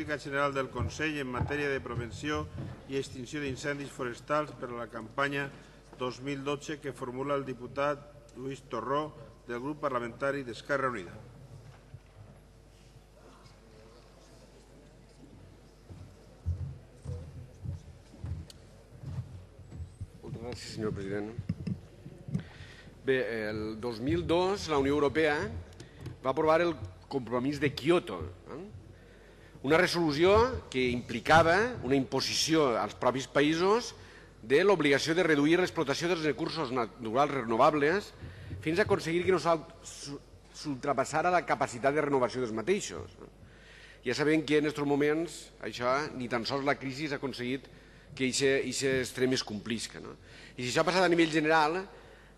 política general del Consell en matèria de prevenció i extinció d'incendis forestals per a la campanya 2012 que formula el diputat Lluís Torró del grup parlamentari d'Esquerra Unida. Moltes gràcies, senyor president. Bé, el 2002 la Unió Europea va aprovar el compromís de Kyoto, una resolució que implicava una imposició als propis països de l'obligació de reduir l'explotació dels recursos naturals renovables fins a aconseguir que no s'ultrapassara la capacitat de renovació dels mateixos. Ja sabem que en aquests moments això, ni tan sols la crisi ha aconseguit que aquest extrem es complisca. I si això ha passat a nivell general,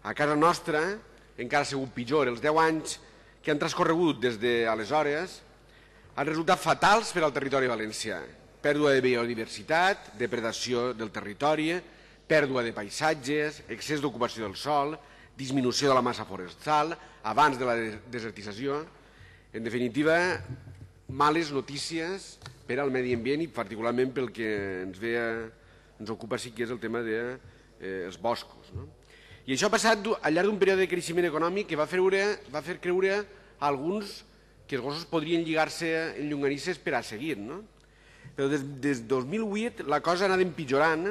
a casa nostra encara ha sigut pitjor. Els 10 anys que han transcorregut des d'aleshores han resultat fatals per al territori valencià. Pèrdua de biodiversitat, depredació del territori, pèrdua de paisatges, excés d'ocupació del sòl, disminució de la massa forestal, avanç de la desertització. En definitiva, males notícies per al medi ambient i particularment pel que ens ocupa sí que és el tema dels boscos. I això ha passat al llarg d'un període de creixement econòmic que va fer creure a alguns que els gossos podrien lligar-se en llonganisses per a seguir. Però des del 2008 la cosa ha anat empitjorant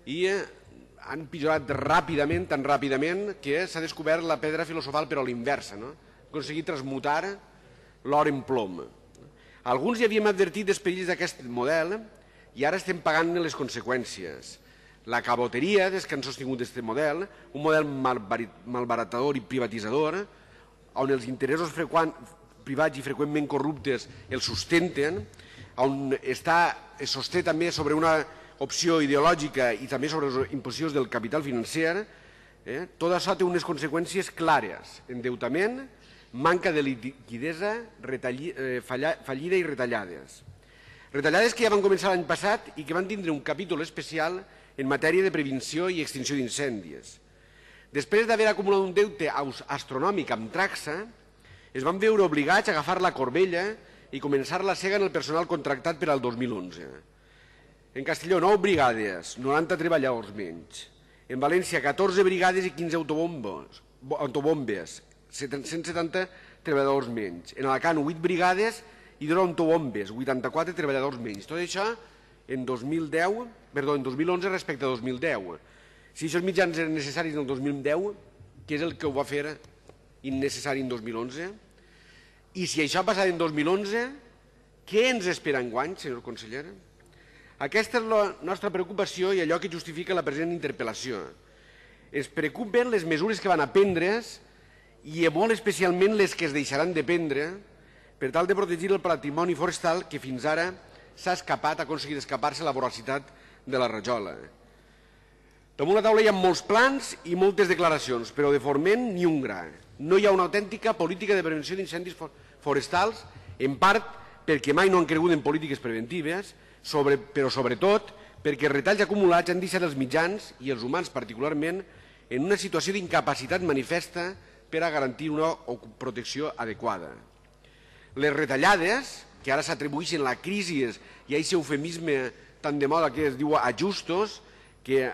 i ha empitjorat ràpidament, tan ràpidament que s'ha descobert la pedra filosofal però a l'inversa. Ha aconseguit transmutar l'or en plom. Alguns ja havíem advertit dels perills d'aquest model i ara estem pagant les conseqüències. La caboteria des que han sostingut aquest model, un model malbaratador i privatitzador, on els interessos privats i freqüentment corruptes els sustenten, on es sosté també sobre una opció ideològica i també sobre les imposicions del capital financer, tot això té unes conseqüències clares: endeutament, manca de liquidesa, fallida i retallades. Retallades que ja van començar l'any passat i que van tindre un capítol especial en matèria de prevenció i extinció d'incendis. Després d'haver acumulat un deute astronòmic amb Traxa, es van veure obligats a agafar la corbella i començar la sega en el personal contractat per al 2011. En Castelló, 9 brigades, 90 treballadors menys. En València, 14 brigades i 15 autobombes, 170 treballadors menys. En Alacant, 8 brigades i 2 autobombes, 84 treballadors menys. Tot això en 2011 respecte a 2010. Si aquests mitjans eren necessaris en el 2010, què és el que ho va fer innecessari en 2011? I si això ha passat en 2011, què ens espera enguany, senyor conseller? Aquesta és la nostra preocupació i allò que justifica la present interpel·lació. Ens preocupen les mesures que van a prendre's i molt especialment les que es deixaran de prendre per tal de protegir el patrimoni forestal que fins ara s'ha aconseguit escapar-se la voracitat de la rajola. Damunt la taula hi ha molts plans i moltes declaracions, però de forment ni un gra. No hi ha una autèntica política de prevenció d'incendis forestals, en part perquè mai no han cregut en polítiques preventives, però sobretot perquè els retalls acumulats han deixat els mitjans, i els humans particularment, en una situació d'incapacitat manifesta per a garantir una protecció adequada. Les retallades, que ara s'atribueixen a la crisi i a aquest eufemisme tan de moda que es diu ajustos, que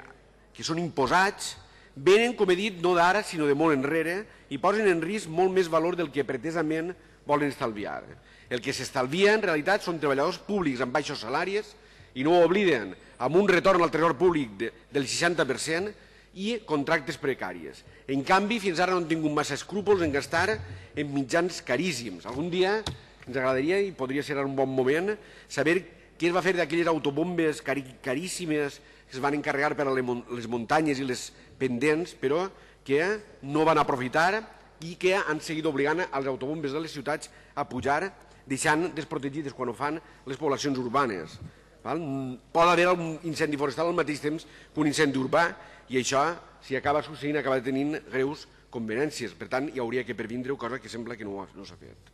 són imposats, venen, com he dit, no d'ara, sinó de molt enrere, i posen en risc molt més valor del que pretesament volen estalviar. El que s'estalvia, en realitat, són treballadors públics amb baixos salaris, i no ho obliden, amb un retorn al tresor públic del 60% i contractes precaris. En canvi, fins ara no han tingut massa escrúpols en gastar en mitjans caríssims. Algun dia ens agradaria, i podria ser un bon moment, saber què es va fer d'aquelles autobombes caríssimes que es van encarregar per a les muntanyes i les pendents, però que no van aprofitar i que han seguit obligant els autobombes de les ciutats a pujar, deixant desprotegides quan ho fan les poblacions urbanes. Pot haver un incendi forestal al mateix temps que un incendi urbà, i això, si acaba succeint, acaba tenint greus conveniències. Per tant, hi hauria que previndre, cosa que sembla que no s'ha fet.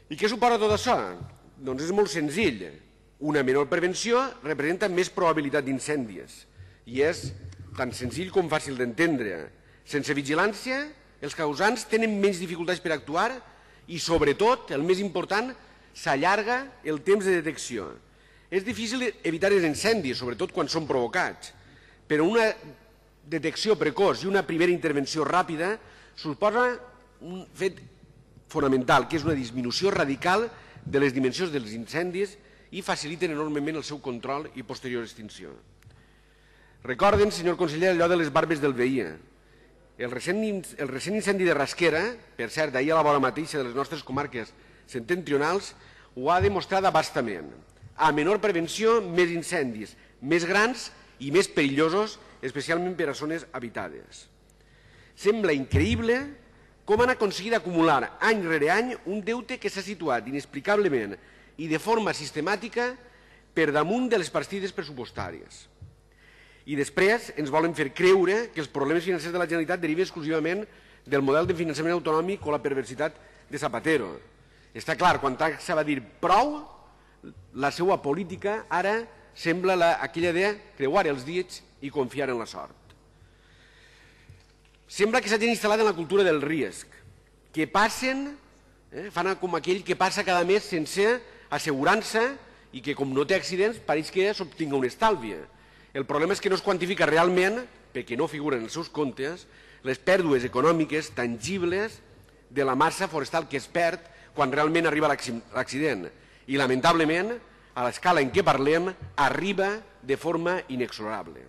I què suposa tot això? Doncs és molt senzill. Una menor prevenció representa més probabilitat d'incendis i és tan senzill com fàcil d'entendre. Sense vigilància, els causants tenen menys dificultats per actuar i, sobretot, el més important, s'allarga el temps de detecció. És difícil evitar els incendis, sobretot quan són provocats, però una detecció precoç i una primera intervenció ràpida suposa un fet fonamental, que és una disminució radical de les dimensions dels incendis i faciliten enormement el seu control i posterior extinció. Recorden, senyor conseller, allò de les barbes del veí. El recent incendi de Rasquera, per cert, ahir a la vora mateixa de les nostres comarques septentrionals, ho ha demostrat abastament. A menor prevenció, més incendis, més grans i més perillosos, especialment per a zones habitades. Sembla increïble com han aconseguit acumular any rere any un deute que s'ha situat inexplicablement i de forma sistemàtica per damunt de les partides pressupostàries. I després ens volen fer creure que els problemes financers de la Generalitat deriven exclusivament del model de finançament autonòmic o la perversitat de Zapatero. Està clar, quan s'ha de dir prou, la seva política ara sembla aquella de creuar els dits i confiar en la sort. Sembla que s'hagin instal·lat en la cultura del risc, que passen, fan com aquell que passa cada mes sense assegurança i que com no té accidents pareix que s'obtinga un estalvi. El problema és que no es quantifica realment, perquè no figuren en els seus comptes, les pèrdues econòmiques tangibles de la massa forestal que es perd quan realment arriba l'accident. I, lamentablement, a l'escala en què parlem, arriba de forma inexorable.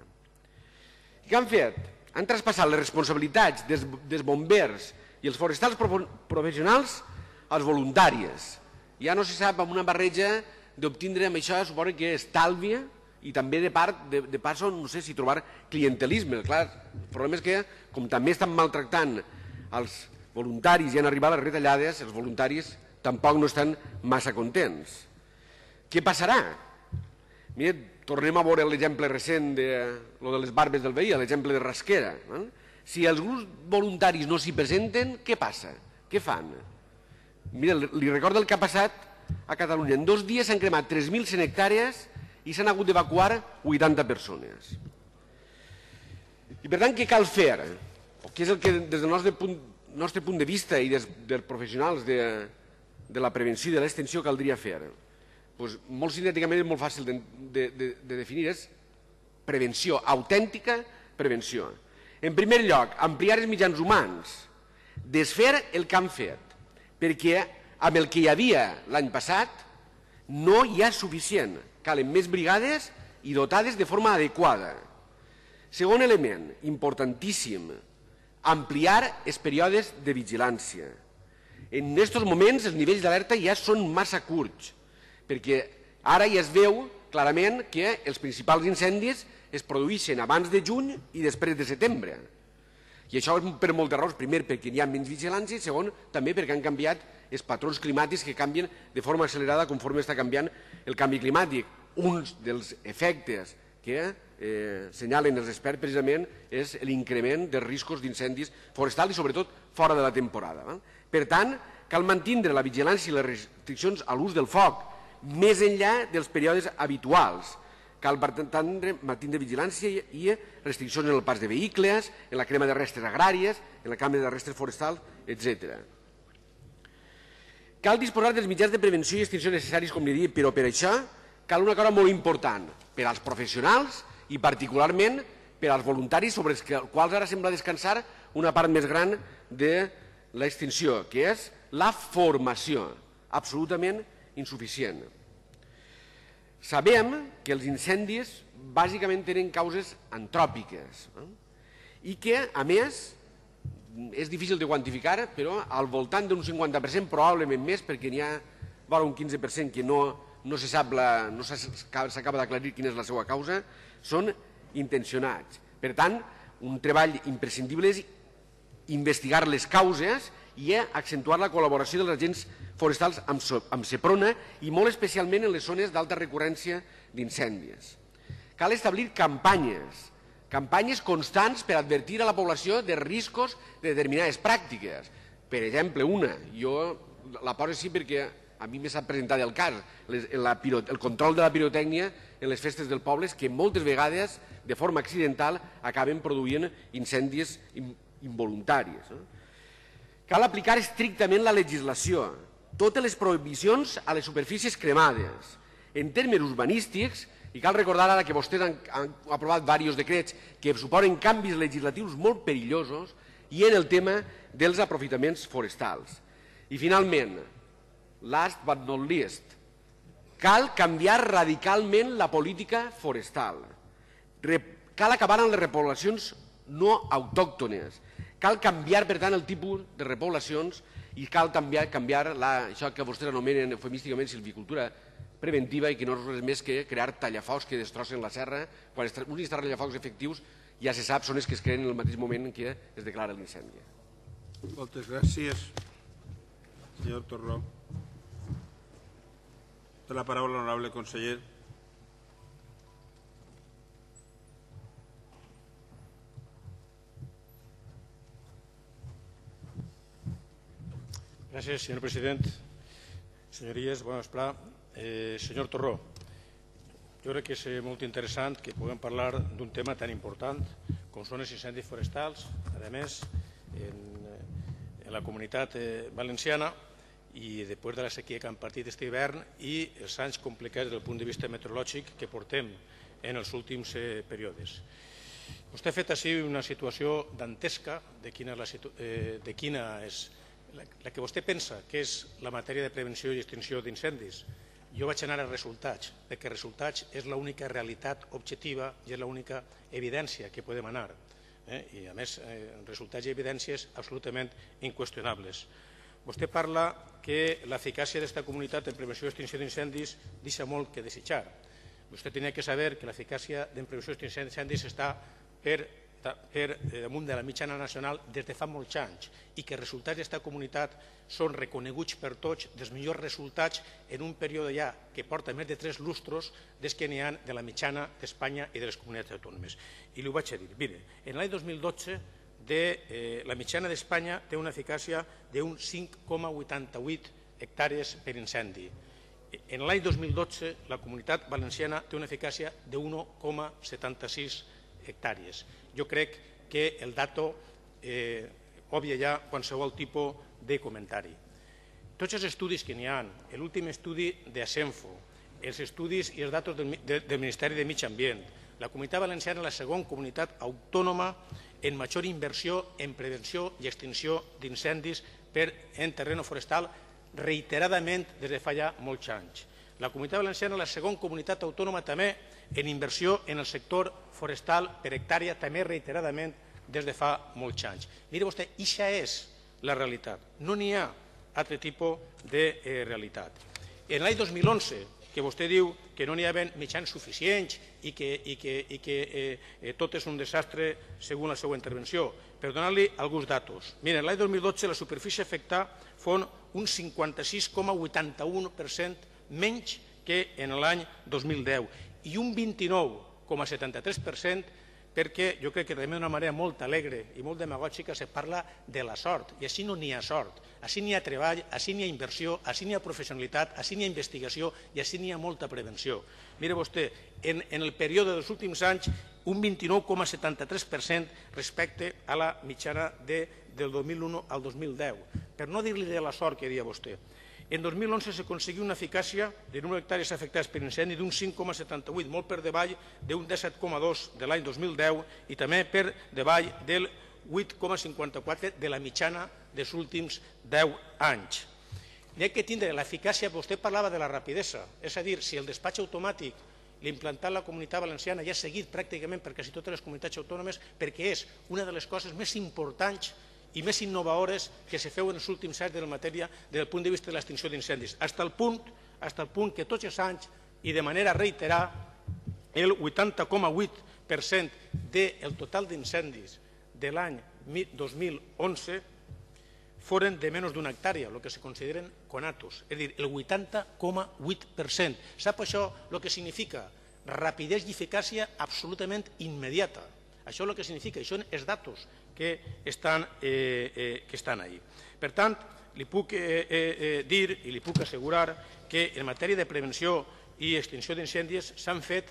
I què han fet? Han traspassat les responsabilitats dels bombers i els forestals professionals als voluntaris. Ja no se sap, amb una barreja d'obtindre amb això, suposo que estalvi i també de part, no sé si trobar clientelisme. Clar, el problema és que, com també estan maltractant els voluntaris i han arribat les retallades, els voluntaris tampoc no estan massa contents. Què passarà? Mira, tornem a veure l'exemple recent de les barbes del veí, l'exemple de Rasquera. Si els grups voluntaris no s'hi presenten, què passa? Què fan? Mira, li recordo el que ha passat a Catalunya. En 2 dies s'han cremat 3.100 hectàrees i s'han hagut d'evacuar 80 persones. I per tant, què cal fer? Què és el que des del nostre punt de vista i dels professionals de la prevenció i de l'extensió caldria fer? Molt sintèticament és molt fàcil de definir, és prevenció, autèntica prevenció. En primer lloc, ampliar els mitjans humans, desfer el que han fet, perquè amb el que hi havia l'any passat no hi ha suficient, calen més brigades i dotades de forma adequada. Segon element, importantíssim, ampliar els períodes de vigilància. En aquests moments els nivells d'alerta ja són massa curts, perquè ara ja es veu clarament que els principals incendis es produeixen abans de juny i després de setembre. I això és per moltes raons. Primer, perquè hi ha menys vigilància, i segon, també perquè han canviat els patrons climàtics que canvien de forma accelerada conforme està canviant el canvi climàtic. Un dels efectes que senyalen els experts precisament és l'increment dels riscos d'incendis forestals i sobretot fora de la temporada. Per tant, cal mantindre la vigilància i les restriccions a l'ús del foc més enllà dels períodes habituals. Cal, per tant, mantindre vigilància i restriccions en el pas de vehicles, en la crema de restes agràries, en la crema de restes forestals, etc. Cal disposar dels mitjans de prevenció i extinció necessaris, com li dic, però per això cal una cosa molt important per als professionals i particularment per als voluntaris sobre els quals ara sembla descansar una part més gran de l'extinció, que és la formació, absolutament insuficient. Sabem que els incendis bàsicament tenen causes antròpiques i que, a més, és difícil de quantificar, però al voltant d'un 50%, probablement més, perquè n'hi ha un 15% que no s'acaba d'aclarir quina és la seva causa, són intencionats. Per tant, un treball imprescindible és investigar les causes i accentuar la col·laboració dels agents forestals amb Seprona i molt especialment en les zones d'alta recurrència d'incendis. Cal establir campanyes constants per advertir a la població de riscos de determinades pràctiques. Per exemple, jo la poso així perquè a mi m'ha presentat el cas, el control de la pirotècnia en les festes del poble, que moltes vegades, de forma accidental, acaben produint incendis involuntaris. Cal aplicar estrictament la legislació totes les prohibicions a les superfícies cremades. En termes urbanístics, i cal recordar ara que vostès han aprovat diversos decrets que suposen canvis legislatius molt perillosos, i en el tema dels aprofitaments forestals. I finalment, last but not least, cal canviar radicalment la política forestal. Cal acabar amb les repoblacions no autòctones. Cal canviar, per tant, el tipus de repoblacions i cal canviar això que vostès anomenen eufemísticament silvicultura preventiva i que no és res més que crear tallafocs que destrossen la serra. Quan uns tallafocs efectius ja se sap són els que es creen en el mateix moment en què es declara l'incendi. Moltes gràcies, senyor Torró. Té la paraula l'honorable conseller. Gràcies, senyor president. Senyories, bon vesprà. Senyor Torró, jo crec que és molt interessant que puguem parlar d'un tema tan important com són els incendis forestals, a més, en la comunitat valenciana i després de la sequia que han patit aquest hivern i els anys complicats des del punt de vista meteorològic que portem en els últims períodes. Vostè ha fet així una situació dantesca de quina és la que vostè pensa que és la matèria de prevenció i extinció d'incendis. Jo vaig anar a resultats, perquè resultats és l'única realitat objectiva i és l'única evidència que podem anar. I a més, resultats i evidències absolutament inqüestionables. Vostè parla que l'eficàcia d'aquesta comunitat en prevenció i extinció d'incendis deixa molt que desitjar. Vostè tenia que saber que l'eficàcia en prevenció i extinció d'incendis està per damunt de la mitjana nacional des de fa molts anys i que els resultats d'aquesta comunitat són reconeguts per tots dels millors resultats en un període ja que porta més de 3 lustros des que n'hi ha de la mitjana d'Espanya i de les comunitats autònomes. I li ho vaig a dir. Mire, en l'any 2012 la mitjana d'Espanya té una eficàcia d'un 5,88 hectàrees per incendi. En l'any 2012 la comunitat valenciana té una eficàcia de 1,76 hectàrees. Jo crec que el dato obvia ja qualsevol tipus de comentari. Tots els estudis que n'hi ha, l'últim estudi d'Asenfo, els estudis i els datos del Ministeri de Medi Ambient, la comunitat valenciana és la segona comunitat autònoma en major inversió en prevenció i extinció d'incendis en terreno forestal reiteradament des de fa ja molts anys. La comunitat valenciana és la segona comunitat autònoma també en inversió en el sector forestal per hectàrea, també reiteradament des de fa molts anys. Mire vostè, això és la realitat. No n'hi ha altre tipus de realitat. En l'any 2011, que vostè diu que no n'hi havia mitjans suficients i que tot és un desastre segons la seva intervenció, per donar-li alguns datos. Mira, l'any 2012 la superfície afectada fon un 56,81% menys que en l'any 2010 i un 29,73% perquè jo crec que també d'una manera molt alegre i molt demagògica se parla de la sort, i així no n'hi ha sort, així n'hi ha treball, així n'hi ha inversió, així n'hi ha professionalitat, així n'hi ha investigació i així n'hi ha molta prevenció. Mire vostè, en el període dels últims anys, un 29,73% respecte a la mitjana del 2001 al 2010, per no dir-li de la sort que deia vostè. En 2011 s'aconseguí una eficàcia de número d'hectàrees afectades per incendi d'un 5,78, molt per davall d'un 17,2 de l'any 2010 i també per davall del 8,54 de la mitjana dels últims 10 anys. N'hi ha que tindre l'eficàcia, vostè parlava de la rapidesa, és a dir, si el despatx automàtic l'implantat la comunitat valenciana ja ha seguit pràcticament per quasi totes les comunitats autònomes perquè és una de les coses més importants i més innovadores que se feu en els últims anys de la matèria des del punt de vista de l'extinció d'incendis, fins al punt que tots els anys i de manera reiterada el 80,8% del total d'incendis de l'any 2011 foren de menys d'una hectàrea, el que se consideren conatos, és a dir, el 80,8%. Sap això el que significa? Rapidesa i eficàcia absolutament immediata. Això és el que significa, això són els datos que estan ahí. Per tant, li puc dir i li puc assegurar que en matèria de prevenció i extinció d'incendis s'han fet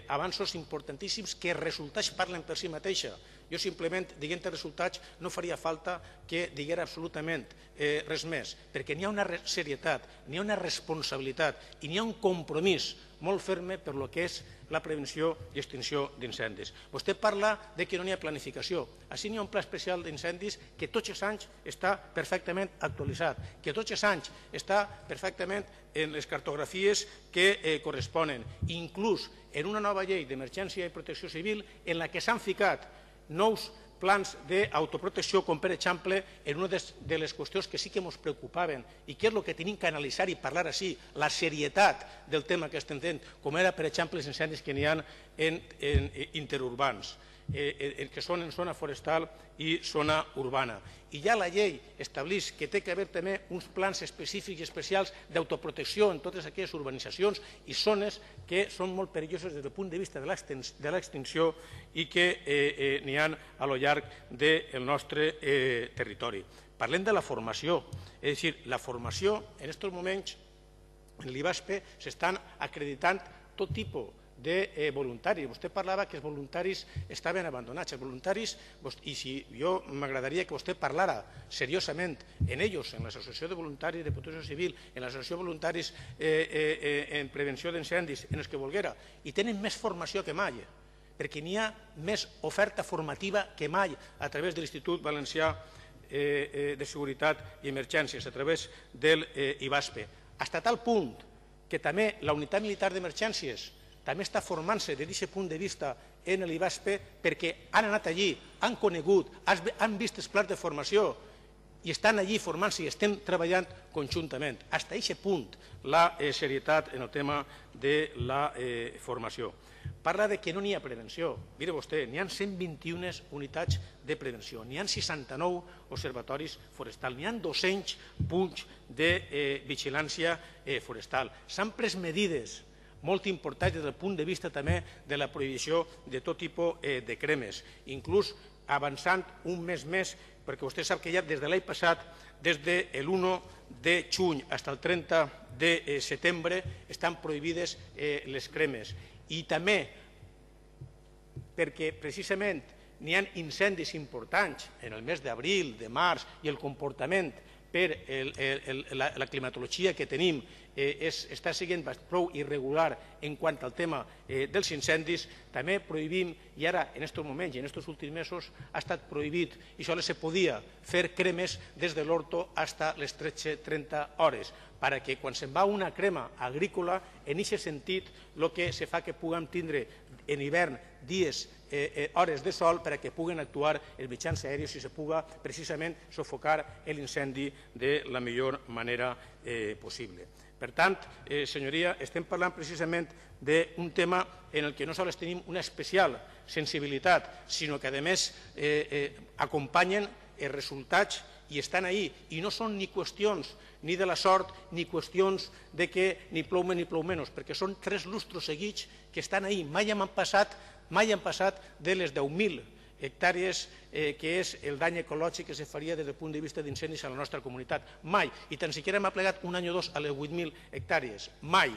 avanços importantíssims que els resultats parlen per si mateixa. Jo simplement, dient els resultats, no faria falta que diguera absolutament res més, perquè n'hi ha una serietat, n'hi ha una responsabilitat i n'hi ha un compromís molt ferme per lo que és la prevenció i extinció d'incendis. Vostè parla que no hi ha planificació. Així n'hi ha un pla especial d'incendis que tots els anys està perfectament actualitzat, que tots els anys està perfectament en les cartografies que corresponen, inclús en una nova llei d'emergència i protecció civil en la que s'han ficat nous plans d'autoprotecció, com per exemple, en una de les qüestions que sí que ens preocupaven i que és el que tenim que analitzar i parlar així, la serietat del tema que estem fent, com era, per exemple, els incendis que n'hi ha en interurbans, que són en zona forestal i zona urbana. I ja la llei estableix que té que haver també uns plans específics i especials d'autoprotecció en totes aquelles urbanitzacions i zones que són molt perilloses des del punt de vista de l'extinció i que n'hi ha a lo llarg del nostre territori. Parlem de la formació, és a dir, la formació en aquests moments en l'IVASPE s'estan acreditant tot tipus de voluntaris. Vostè parlava que els voluntaris estaven abandonats. Els voluntaris, i si jo m'agradaria que vostè parlara seriosament en ells, en l'Associació de Voluntaris de Protecció Civil, en l'Associació de Voluntaris en Prevenció d'Incendis, en els que volguera, i tenen més formació que mai, perquè n'hi ha més oferta formativa que mai a través de l'Institut Valencià de Seguretat i Emergències, a través del IVASPE. Fins a tal punt que també la Unitat Militar d'Emergències també està formant-se des d'aquest punt de vista en l'IVASPE perquè han anat allí, han conegut, han vist els plans de formació i estan allí formant-se i estem treballant conjuntament. Fins a aquest punt la serietat en el tema de la formació. Parla que no n'hi ha prevenció. Mire vostè, n'hi ha 121 unitats de prevenció, n'hi ha 69 observatoris forestals, n'hi ha 200 punts de vigilància forestal. S'han pres medides molt importants des del punt de vista també de la prohibició de tot tipus de cremes, inclús avançant un mes més, perquè vostè sap que ja des de l'any passat, des de l'1 de juny fins al 30 de setembre, estan prohibides les cremes. I també perquè precisament n'hi ha incendis importants en el mes d'abril, de març, i el comportament per la climatologia que tenim està sent prou irregular en quant al tema dels incendis, també prohibim, i ara en aquests moments i en aquests últims mesos ha estat prohibit, i sols se podia fer cremes des de l'horto fins a les 13:30 hores, perquè quan se'n va una crema agrícola, en aquest sentit, el que se fa que puguem tindre en hivern dies, hores de sol, perquè puguen actuar els mitjans aèris i se puga precisament sofocar l'incendi de la millor manera possible. Per tant, senyoria, estem parlant precisament d'un tema en el que no sols tenim una especial sensibilitat, sinó que, a més, acompanyen els resultats i estan ahí. I no són ni qüestions ni de la sort ni qüestions de que ni plou més ni plou menys, perquè són 3 lustres seguits que estan ahí. Mai han passat de les 10.000 hectàrees que és el dany ecològic que se faria des del punt de vista d'incendis a la nostra comunitat. Mai. I tan siquiera m'ha plegat un any o dos a les 8.000 hectàrees. Mai.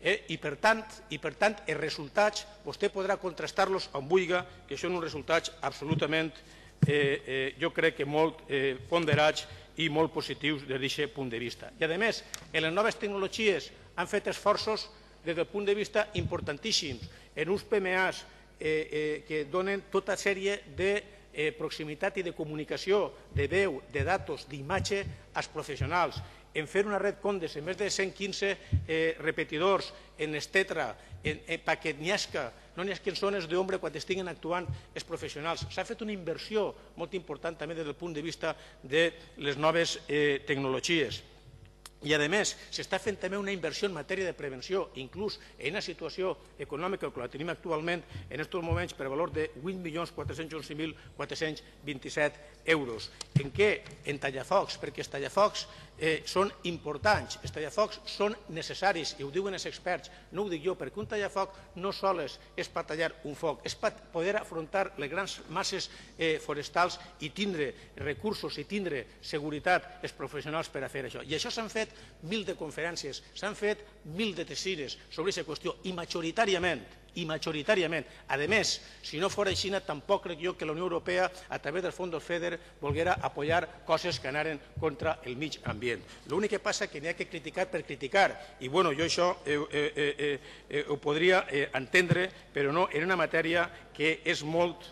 I per tant, els resultats, vostè podrà contrastar-los on vulgui, que són uns resultats absolutament, jo crec que molt ponderats i molt positius des d'aquest punt de vista. I, a més, en les noves tecnologies han fet esforços des del punt de vista importantíssims en uns PMAs que donen tota sèrie de proximitat i de comunicació de veu, de datos, d'imatge als professionals, en fer una red Condes en més de 115 repetidors, en estetra, perquè n'hi hagi no n'hi hagi zones d'ombra quan estiguin actuant els professionals. S'ha fet una inversió molt important també des del punt de vista de les noves tecnologies. I, a més, s'està fent també una inversió en matèria de prevenció, inclús en una situació econòmica que la tenim actualment en aquests moments per valor de 8.411.427 euros. En què? En tallafocs, perquè els tallafocs són importants, els tallafocs són necessaris, i ho diuen els experts, no ho dic jo, perquè un tallafoc no sols és per tallar un foc, és per poder afrontar les grans masses forestals i tindre recursos i tindre seguretat els professionals per a fer això. I això s'han fet 1.000 de conferències, s'han fet 1.000 de tessires sobre aquesta qüestió i majoritàriament y mayoritariamente. Además, si no fuera així, tampoco creo yo que la Unión Europea, a través del Fondo FEDER, volviera a apoyar cosas que anaren contra el mig ambient. L'únic que passa que n'hi ha que criticar per criticar, i bueno, jo això ho podria entendre, però no en una matèria que és molt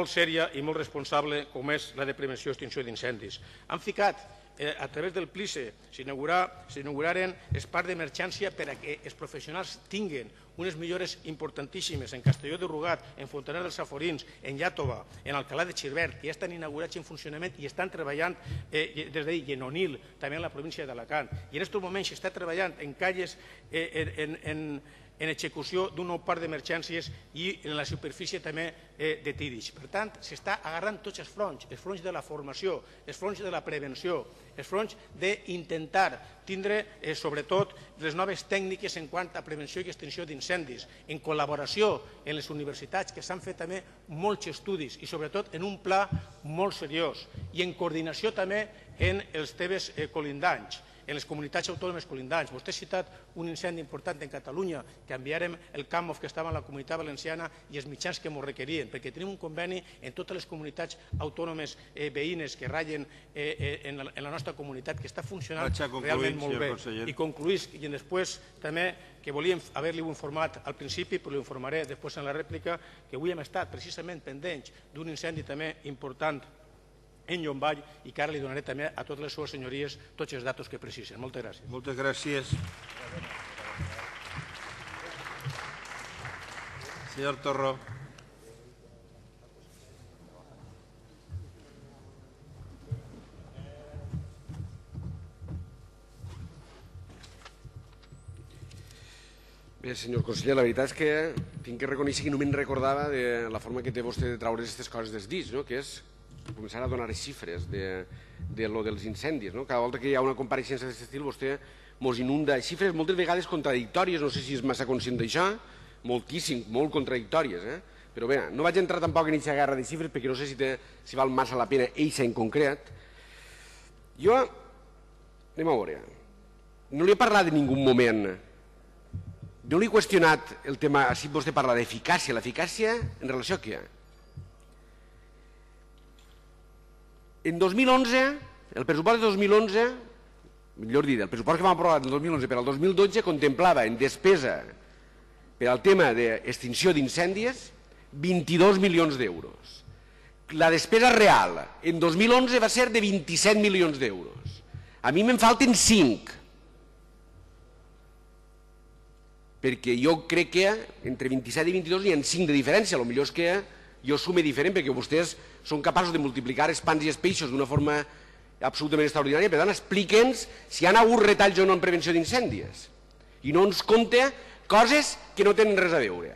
sèria i molt responsable, com és la de prevenció i extinció d'incendis. Han ficat a través del PLICE s'inauguraren els parcs d'emergència per a que els professionals tinguin unes millores importantíssimes en Castelló de Rugat, en Fontanet dels Saforins, en Iàtova, en Alcalá de Xivert, que ja estan inaugurats en funcionament i estan treballant des d'ahir, i en Onil, també en la província d'Alacant. I en aquests moments s'està treballant en calles en execució d'un nou parc d'emergències i en la superfície també de Tídix. Per tant, s'està agarrant tots els fronts de la formació, els fronts de la prevenció, els fronts d'intentar tindre, sobretot, les noves tècniques en quant a prevenció i extinció d'incendis, en col·laboració amb les universitats, que s'han fet també molts estudis i, sobretot, en un pla molt seriós, i en coordinació també amb els temes colindants, en les comunitats autònomes colindants. Vostè ha citat un incendi important en Catalunya, que enviarem el CAMOF que estava en la Comunitat Valenciana i els mitjans que ens requerien, perquè tenim un conveni en totes les comunitats autònomes veïnes que ratllen en la nostra comunitat, que està funcionant realment molt bé. I concluís, i després també, que volíem haver-li informat al principi, però l'informaré després en la rèplica, que avui hem estat precisament pendents d'un incendi també important en Llombai, i que ara li donaré també a totes les seves senyories tots els datos que precisen. Moltes gràcies. Moltes gràcies. Senyor Torró. Bé, senyor conseller, la veritat és que tinc que reconèixer que no me'n recordava de la forma que té vostè de treure aquestes coses dels dits, que és començar a donar xifres de lo dels incendis. Cada volta que hi ha una compareixença d'aquest estil vostè ens inunda xifres moltes vegades contradictòries, no sé si és massa conscient d'això, moltíssim, molt contradictòries. Però bé, no vaig entrar tampoc en aquesta guerra de xifres perquè no sé si val massa la pena eixa en concret. Jo, anem a veure, no li he parlat en ningú moment, no li he qüestionat el tema, si vostè parla d'eficàcia, l'eficàcia en relació a què? En 2011, el pressupost de 2011, millor dit, el pressupost que vam aprovar en 2011 per al 2012 contemplava en despesa per al tema d'extinció d'incendis 22 milions d'euros. La despesa real en 2011 va ser de 27 milions d'euros. A mi me'n falten 5. Perquè jo crec que entre 27 i 22 hi ha 5 de diferència, potser és que jo sume diferent perquè vostès són capaços de multiplicar els pans i els peixos d'una forma absolutament extraordinària. Per tant, explique'ns si hi ha hagut retalls o no en prevenció d'incendis i no ens compta coses que no tenen res a veure.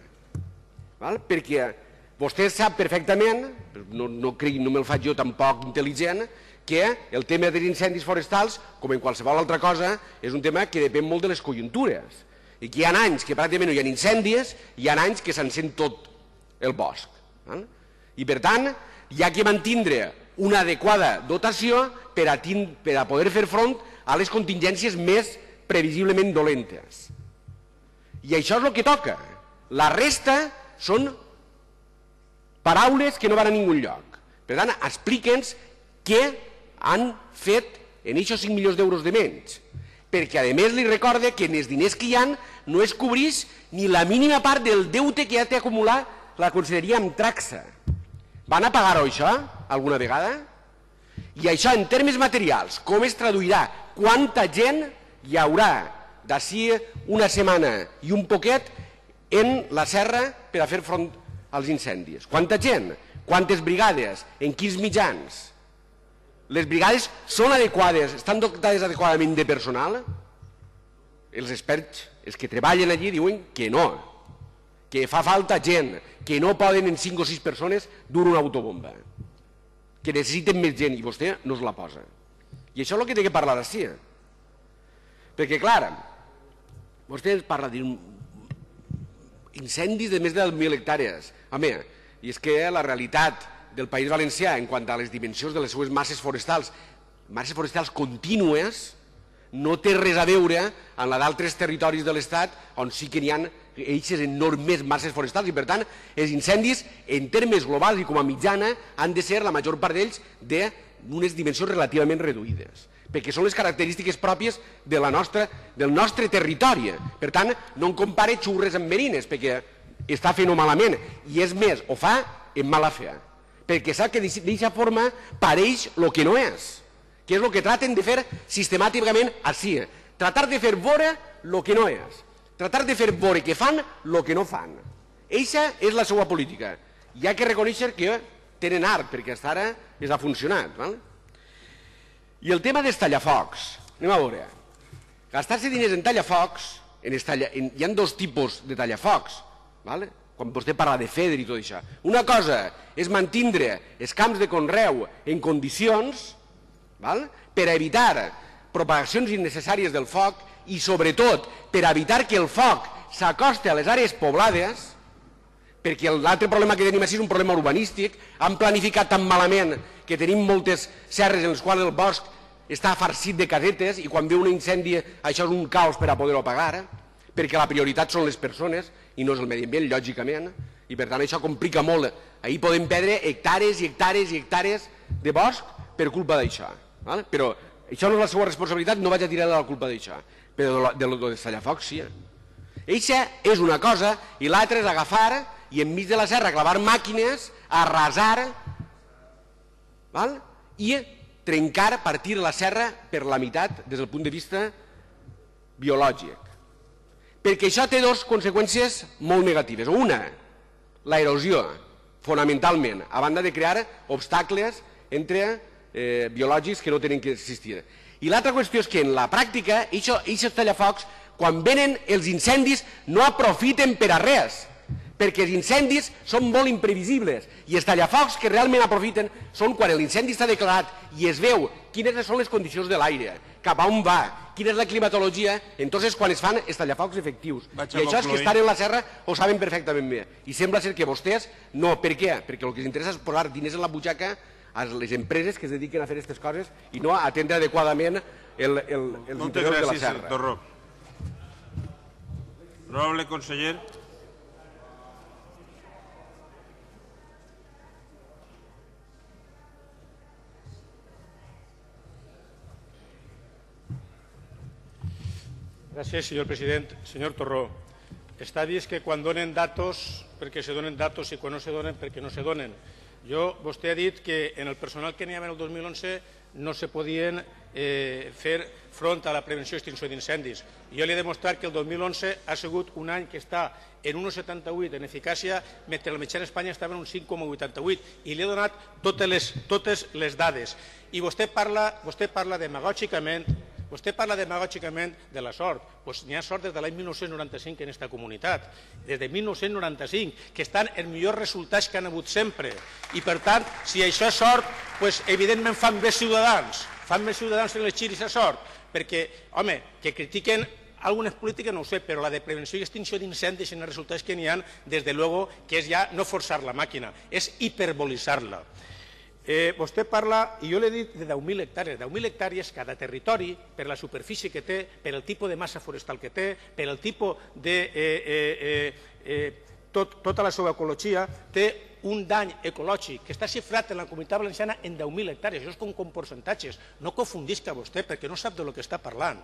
Perquè vostè sap perfectament, no me'l faig jo tampoc intel·ligent, que el tema dels incendis forestals, com en qualsevol altra cosa, és un tema que depèn molt de les conjuntures. I que hi ha anys que pràcticament no hi ha incendis i hi ha anys que s'encén tot el bosc. I per tant, hi ha que mantindre una adequada dotació per a poder fer front a les contingències més previsiblement dolentes. I això és el que toca. La resta són paraules que no van a ningú lloc. Per tant, explique'ns què han fet en aquests 5 milions d'euros de menys. Perquè, a més, li recorde que en els diners que hi ha no es cobreix ni la mínima part del deute que ja té acumulat la conselleria amb Traxa. Van a pagar-ho això alguna vegada? I això en termes materials, com es traduirà? Quanta gent hi haurà d'ací una setmana i un poquet en la serra per a fer front als incendis? Quanta gent? Quantes brigades? En quins mitjans? Les brigades són adequades, estan dotades adequadament de personal? Els experts, els que treballen allí, diuen que no, que fa falta gent, que no poden en 5 o 6 persones dur una autobomba, que necessiten més gent i vostè no es la posa. I això és el que té que parlar d'ací. Perquè, clar, vostè parla d'incendis de més de 1.000 hectàrees. Home, i és que la realitat del País Valencià en quant a les dimensions de les seues masses forestals contínues, no té res a veure amb la d'altres territoris de l'Estat on sí que n'hi ha aquestes enormes masses forestals i, per tant, els incendis, en termes globals i com a mitjana, han de ser, la major part d'ells, d'unes dimensions relativament reduïdes, perquè són les característiques pròpies del nostre territori. Per tant, no en compare xurres amb merines, perquè està fent-ho malament, i és més, ho fa en mala fe, perquè sap que d'aquesta forma pareix el que no és, que és el que traten de fer sistemàticament així, tratar de fer veure el que no és, tratar de fer veure que fan el que no fan. Eixa és la seva política. Hi ha que reconèixer que tenen art, perquè fins ara els ha funcionat. I el tema dels tallafocs, anem a veure. Gastar-se diners en tallafocs, hi ha dos tipus de tallafocs, quan vostè parla de FEDER i tot això. Una cosa és mantindre els camps de conreu en condicions per evitar propagacions innecessàries del foc i, sobretot, per evitar que el foc s'acosti a les àrees poblades, perquè l'altre problema que tenim és un problema urbanístic. Han planificat tan malament que tenim moltes serres en les quals el bosc està farcit de casetes i quan ve un incendi això és un caos per a poder-ho apagar, perquè la prioritat són les persones i no és el medi ambient, lògicament, i per tant això complica molt. Ahir podem perdre hectàrees i hectàrees i hectàrees de bosc per culpa d'això. Però això no és la seva responsabilitat, no vaig a tirar de la culpa d'això, però de dels tallafocs sí. Eixa és una cosa i l'altra és agafar i enmig de la serra clavar màquines, arrasar i trencar, partir la serra per la meitat des del punt de vista biològic. Perquè això té dues conseqüències molt negatives. Una, l'erosió, fonamentalment, a banda de crear obstacles biològics que no tenen que existir. I l'altra qüestió és que en la pràctica, aquests tallafocs, quan venen els incendis, no aprofiten per a res, perquè els incendis són molt imprevisibles i els tallafocs que realment aprofiten són quan l'incendi està declarat i es veu quines són les condicions de l'aire, cap a on va, quina és la climatologia, entonces quan es fan els tallafocs efectius. I això és que estan en la serra ho saben perfectament bé. I sembla ser que vostès no. Per què? Perquè el que els interessa és posar diners en la butxaca a les empreses que es dediquen a fer aquestes coses i no a atendre adequadament els interiors de la serra. Moltes gràcies, Torró. Honorable conseller. Gràcies, senyor president. Senyor Torró, està vist que quan donen datos perquè se donen datos i quan no se donen perquè no se donen. Vostè ha dit que en el personal que n'hi havia el 2011 no se podien fer front a la prevenció i extinció d'incendis. Jo li he demostrat que el 2011 ha sigut un any que està en 1,78 en eficàcia, mentre la mitjana a Espanya estava en un 5,88, i li he donat totes les dades. I vostè parla demagògicament de la sort. Doncs n'hi ha sort des de l'any 1995 en aquesta comunitat, des de 1995, que estan els millors resultats que han hagut sempre. I per tant, si això és sort, evidentment fan més ciutadans en les xiris a sort, perquè, home, que critiquen algunes polítiques no ho sé, però la de prevenció i extinció d'incendis en els resultats que n'hi ha, des de luego, que és ja no forçar la màquina, és hiperbolitzar-la. Vostè parla, i jo l'he dit, de 10.000 hectàrees. 10.000 hectàrees cada territori, per la superfície que té, per el tipus de massa forestal que té, per el tipus de tota la seva ecologia, té un dany ecològic que està xifrat en la Comunitat Valenciana en 10.000 hectàrees. Això és com percentatges. No confundisca vostè, perquè no sap de lo que està parlant.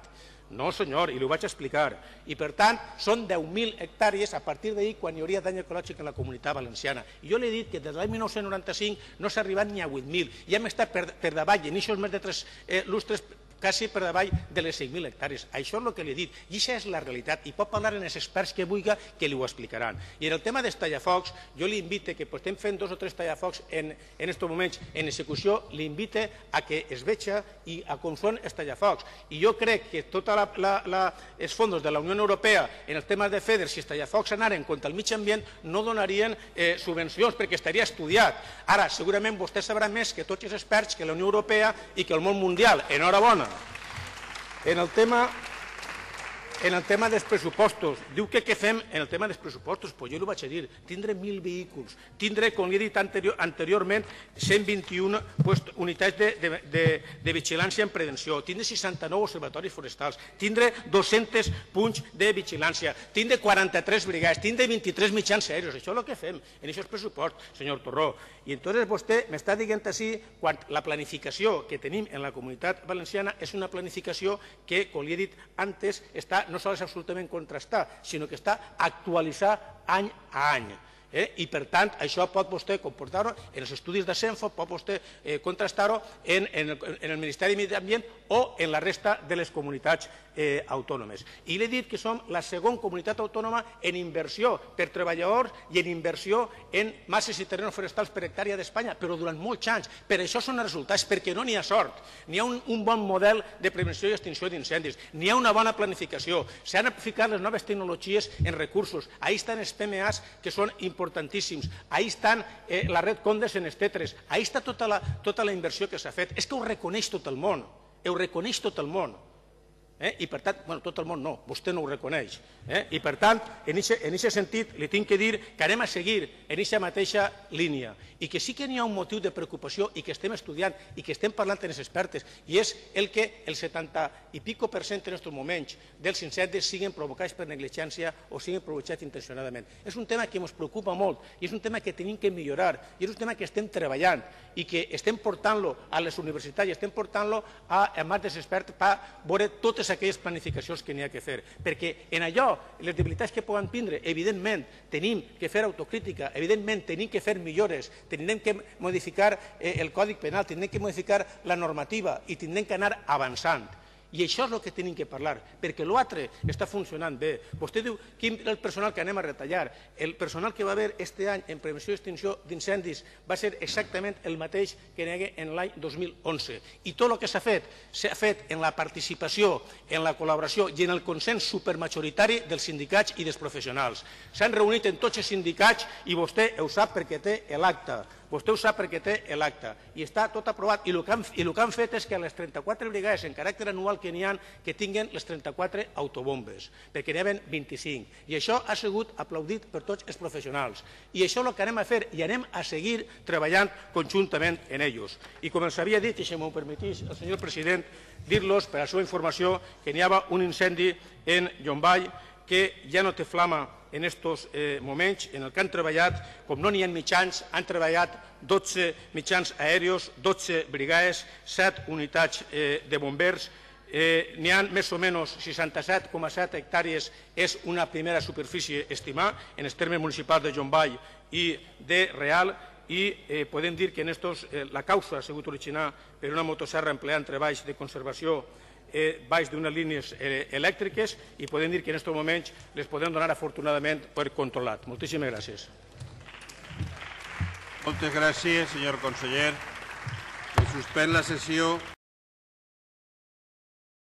No, senyor, i li ho vaig explicar. I, per tant, són 10.000 hectàrees a partir d'ahir quan hi hauria dany ecològic en la Comunitat Valenciana. I jo li he dit que des de l'any 1995 no s'ha arribat ni a 8.000. I hem estat per davall, en aquests més de 3 lustres, quasi per davall de les 5.000 hectàrees. Això és el que li he dit. I això és la realitat. I pot parlar amb els experts que vulgui que li ho explicaran. I en el tema dels tallafocs, jo li invite que estem fent 2 o 3 tallafocs en aquests moments en execució, li invite a que es veja i a com són els tallafocs. I jo crec que tots els fons de la Unió Europea en els temes de FEDER, si els tallafocs anaren contra el mig ambient, no donarien subvencions perquè estaria estudiat. Ara, segurament vostè sabrà més que tots els experts, que la Unió Europea i que el món mundial. Enhorabona. En el tema en el tema dels pressupostos. Diu que què fem en el tema dels pressupostos? Pues jo ho vaig a dir. Tindre 1.000 vehicles, tindre, com li he dit anteriorment, 121 unitats de vigilància en prevenció, tindre 69 observatoris forestals, tindre 200 punts de vigilància, tindre 43 brigades, tindre 23 mitjans aèrios. Això és el que fem en aquests pressupostos, senyor Torró. I entonces vostè m'està dient així quan la planificació que tenim en la Comunitat Valenciana és una planificació que, com li he dit antes, no sols és absolutament contrastada, sinó que està actualitzada any a any. I, per tant, això pot vostè comportar-ho en els estudis de Senfo, pot vostè contrastar-ho en el Ministeri de Medi Ambient o en la resta de les comunitats autònomes. I l'he dit que som la segona comunitat autònoma en inversió per treballadors i en inversió en masses i terrenys forestals per hectàrea d'Espanya, però durant molts anys. Per això són els resultats, perquè no n'hi ha sort. N'hi ha un bon model de prevenció i extinció d'incendis, n'hi ha una bona planificació, s'han aplicat les noves tecnologies en recursos, ahí estan els PMAs que són importantíssims, ahí estan la red Condes en els tetres, ahí està tota la inversió que s'ha fet. És que ho reconeix tot el món, ho reconeix tot el món. I per tant, bueno, tot el món no, vostè no ho reconeix. I per tant, en aquest sentit, li tinc que dir que anem a seguir en aquesta mateixa línia i que sí que n'hi ha un motiu de preocupació i que estem estudiant i que estem parlant amb els expertes i és el que el 70 i pico % en aquests moments dels incendis siguin provocats per negligència o siguin provocats intencionadament. És un tema que ens preocupa molt i és un tema que tenim que millorar i és un tema que estem treballant i que estem portant-lo a les universitats i estem portant-lo a mans dels experts per veure totes aquelles planificacions que n'hi ha que fer. Perquè en allò, les debilitats que poden tindre, evidentment, tenim que fer autocrítica, evidentment, tenim que fer millores, tenim que modificar el Codi Penal, tenim que modificar la normativa i tenim que anar avançant. I això és el que tenim que parlar, perquè l'altre està funcionant bé. Vostè diu quin és el personal que anem a retallar. El personal que va haver aquest any en prevenció i extinció d'incendis va ser exactament el mateix que n'hi hagué en l'any 2011. I tot el que s'ha fet en la participació, en la col·laboració i en el consens supermajoritari dels sindicats i dels professionals. S'han reunit en tots els sindicats i vostè ho sap perquè té l'acta. Vostè ho sap perquè té l'acta i està tot aprovat i el que han fet és que les 34 brigades en caràcter anual que n'hi ha que tinguin les 34 autobombes, perquè n'hi havia 25 i això ha sigut aplaudit per tots els professionals i això és el que anem a fer i anem a seguir treballant conjuntament en ells. I com els havia dit, i si m'ho permetís el senyor president, dir-los per a la seva informació que n'hi havia un incendi en Llombai que ja no té flama en aquests moments, en el que han treballat, com no n'hi ha mitjans, han treballat 12 mitjans aèrios, 12 brigades, 7 unitats de bombers, n'hi ha més o menys 67,7 hectàrees, és una primera superfície estimada en els termes municipals de Llombai i de Real, i podem dir que la causa ha sigut originada per una motosserra empleant treballs de conservació baix d'unes línies elèctriques i podem dir que en aquests moments les podem donar afortunadament per controlat. Moltíssimes gràcies. Moltes gràcies, senyor conseller. Se suspèn la sessió.